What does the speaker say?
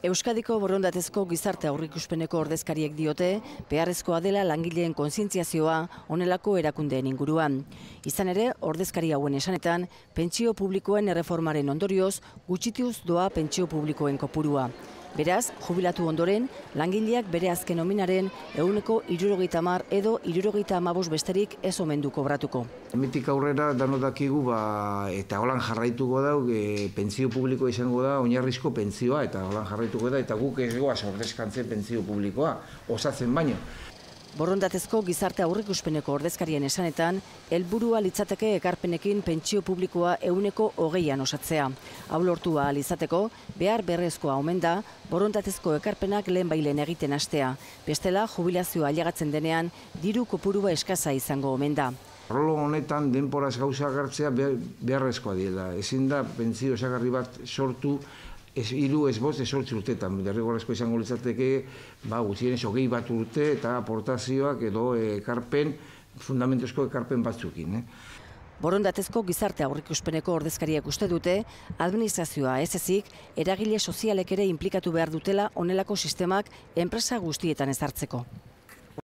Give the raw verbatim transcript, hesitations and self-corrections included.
Euskadiko borondatezko gizarte aurreikuspeneko ordezkariek diote, beharrezkoa dela langileen kontzientziazioa honelako erakundeen inguruan. Izan ere, ordezkari hauen esanetan, pentsio publikoen erreformaren ondorioz, gutxituz doa pentsio publikoen kopurua. Beraz, jubilatu ondoren, langileak bere azken nominaren ehuneko hirurogeita hamar edo hirurogeita hamabost besterik ez omen du kobratuko. Hemendik aurrera danok dakigu ba, eta holan jarraituko da, e, pentsio publikoa izango da, oinarrizko pentsioa, eta holan jarraituko da, eta guk ez goaz ordezkantzen pentsio publikoa, osatzen baino. Borondatezko gizarte aurreikuspeneko ordezkarien esanetan, helburua litzateke ekarpenekin pentsio publikoa ehuneko hogeian osatzea. Hau lortu ahal izateko, behar berrezkoa omen da, borondatezko ekarpenak lehen bailen egiten hastea. Bestela, jubilazioa ailegatzen denean, diru kopurua eskasa izango omen da. Arlo honetan denporaz gauza hartzea beharrezkoa dela. Ezin da pentsio osagarri bat sortu, Ez hiru ez bost ez zortzi urteetan, derrigorrezko izango litzateke, ba, gutxienez hogei bat urte eta aportazioak edo ekarpen, fundamentuzko ekarpen batzukin. Eh? Borondatezko gizarte aurreikuspeneko ordezkariak uste dute, administrazioa ez ezik, eragile sozialek ere inplikatu behar dutela honelako sistemak enpresa guztietan ezartzeko.